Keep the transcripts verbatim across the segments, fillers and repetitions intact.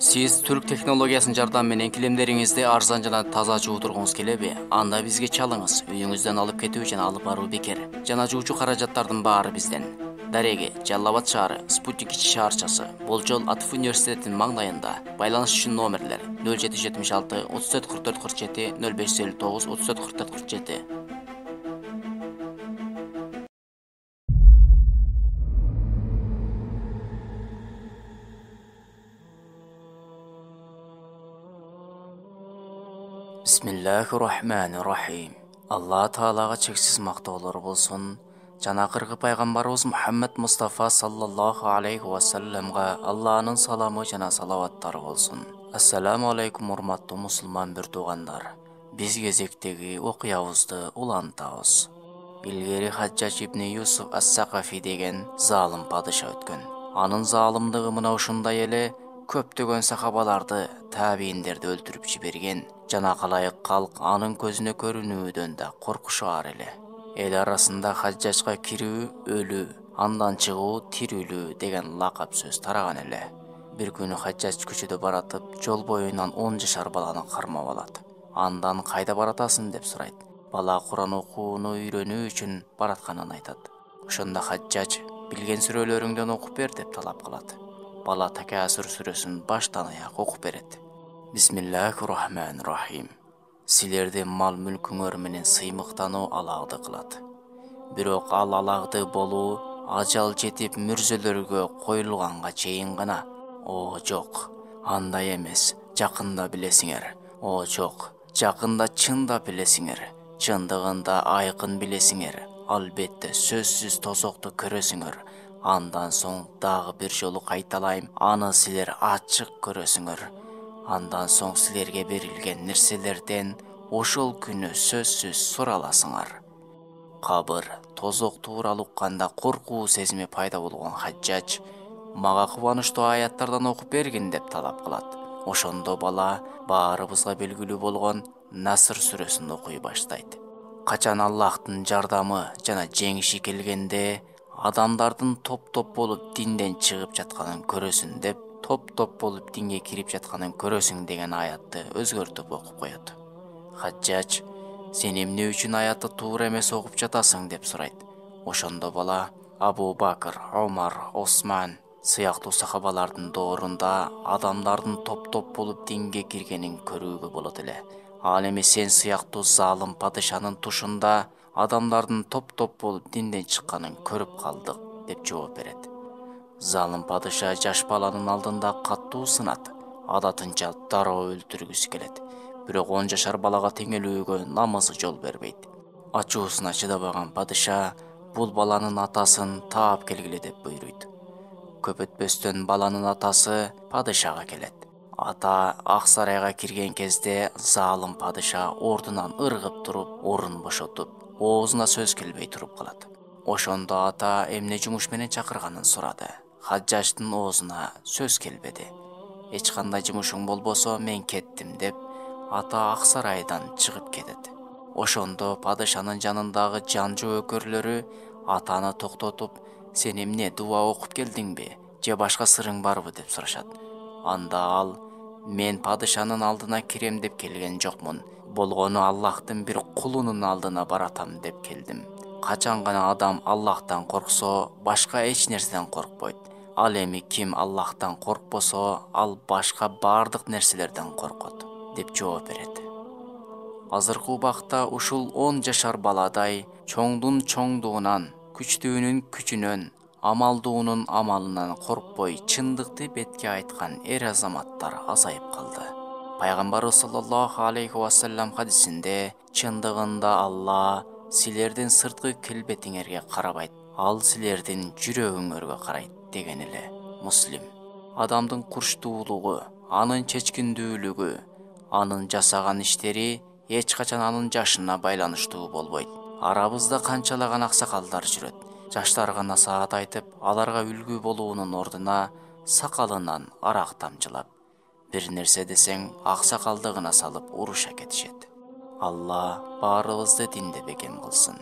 Сиз түрк технологиясынын жардамы менен килемдериңизди арзан жана таза жууп тургуңуз келеби? Анда бизге чалыңыз. Үйүңүздөн алып кетүү жана алып баруу бекер. Жана жуучу каражаттардын баары бизден. Дареги, Жалал Абад шаары, Спутник ичи шаарчасы, Болжол Атып университетинин маңдайында. Байланыш үчүн номерлер нөл жети жүз жетимиш алты отуз төрт кырк төрт кырк жети, нөл беш жүз элүү тогуз отуз төрт кырк төрт кырк жети. Бисмиллахир-рахманир-рахим. Алла Таалага чексиз мактоолор болсун. Жана акыркы пайгамбарыбыз Мухаммад Мустафа саллаллаху алейхи ва салламга Алланын саламы жана салаваттары болсун. Ассаламу алейкум урматтуу мусулман бир туугандар. Биз кезектеги окуябызды улантабыз. Илгери Хаджаж ибн Юсуф ас-Сакафи деген залым падыша өткөн. Анын залымдыгы мына ушундай эле көптөгөн сахабаларды, табийиндерди өлтүрүп жиберген. Жана калайык калк анын көзүнө көрүнүүдөн да коркушаар эле. Эл арасында Хаджажга кирүү өлүү, андан чыгуу тирүүлүү деген лакап сөз тараган эле. Бир күнү Хаджаж көчөдө баратып, жол боюнан он жашар баланы кармап алат. Андан кайда баратасың деп сурайт. Бала Куран окууну үйрөнүү үчүн баратканын айтат. Ошондо Хаджаж билген сүрөлөрүңдөн окуп бер деп талап кылат. Бала Такасур сүрөсүн баштан аяк окуп берет. Бисмиллахир-рахманир-рахим. Силерди мал мүлкүңөр менен сыймыктануу алагды кылат. Бирок ал алагды болуу ажал жетип мүрзөлөргө коюлганга чейин гана. О жок, андай эмес. Жакында билесиңер. О жок, жакында чындап билесиңер. Чындыгында айкын билесиңер. Албетте сөзсүз тозокту көрөсүңөр. Андан соң дагы бир жолу кайталайм, аны силер ачык көрөсүңөр. Андан соң силерге берилген нерселерден ошол күнү сөзсүз сураласыңар. Кабыр, тозок тууралуу укканда коркуу сезими пайда болгон Хаджаж мага кубанычтуу аяттардан окуп бергин деп талап кылат. Ошондо бала баарыбызга белгилүү болгон Наср сүрөсүн окуй баштайт. Качан Аллахтын жардамы жана жеңиши келгенде адамдардын топ-топ болуп динден чыгып жатканын көрөсүн деп топ-топ болуп динге кирип жатканын көрөсүң деген аятты өзгөртүп окуп коет. Хаджаж, сен эмне үчүн аятты туура эмес окуп жатасың деп сурайт. Ошондо бала Абу Бакыр, Омар, Осман сыяктуу сахабалардын доорунда адамдардын топ-топ болуп динге киргенин көрүүгө болот эле. Ал эми сен сыяктуу залым падышанын тушунда адамдардын топ-топ болуп динден чыкканын көрүп калдык деп жооп берет. Залым падыша жаш баланын алдында каттуу сынат. Адатынча дароо өлтүргүсү келет. Бирок он жашар балага теңелүүгө намысы жол бербейт. Ачуусуна чыдабаган падыша бул баланын атасын таап келгиле деп буйруйт. Көп өтпөстөн баланын атасы падышага келет. Ата ак сарайга кирген кезде залым падыша ордунан ыргып туруп, орун бошотуп, оозуна сөз келбей туруп калат. Ошондо ата эмне жумуш менен чакырганын сурады. Хаджаждын оозуна сөз келбеди. Эч кандай жумушуң болбосо мен кеттим деп ата ак сарайдан чыгып кетет. Ошондо падышанын жанындагы жанжу өкөрлөрү атаны токтотуп, сен эмне дуа окуп келдиңби, же башка сырың барбы деп сурашат. Анда ал, мен падышанын алдына кирем деп келген жокмун. Болгону Аллахтын бир кулунун алдына баратам деп келдим. Качан гана адам Аллахтан корксо, башка эч нерседен коркпойт. Ал эми ким Аллахтан коркпосо, ал башка бардык нерселерден коркот деп жооп берет. Азыркы убакта ушул он жашар баладай чоңдун чоңдугунан, күчтүүнүн күчүнөн, амалдуунун амалынан коркпой чындыкты бетке айткан эр азаматтар азайып калды. Пайгамбарыбыз саллаллаху алейхи ва саллам хадисинде чындыгында Алла силердин сырткы келбетиңерге карабайт, ал силердин жүрөгүңөргө карайт деген эле. Муслим. Адамдын курчтуулугу, анын чечкиндүүлүгү, анын жасаган иштери эч качан анын жашына байланыштуу болбойт. Арабызда канчалаган аксакалдар жүрөт. Жаштарга насаат айтып, аларга үлгү болуунун ордуна сакалынан арак тамчылап, бир нерсе десең аксакалдыгына салып уруша кетишет. Алла баарыбызды динде бекем кылсын.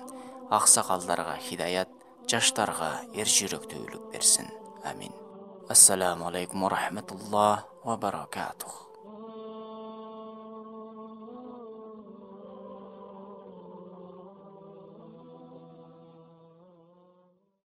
Аксакалдарга хидаят, жаштарга эр жүрөктүүлүк берсин. Амин. Ассаламу алейкум ва рахматуллах ва баракатух.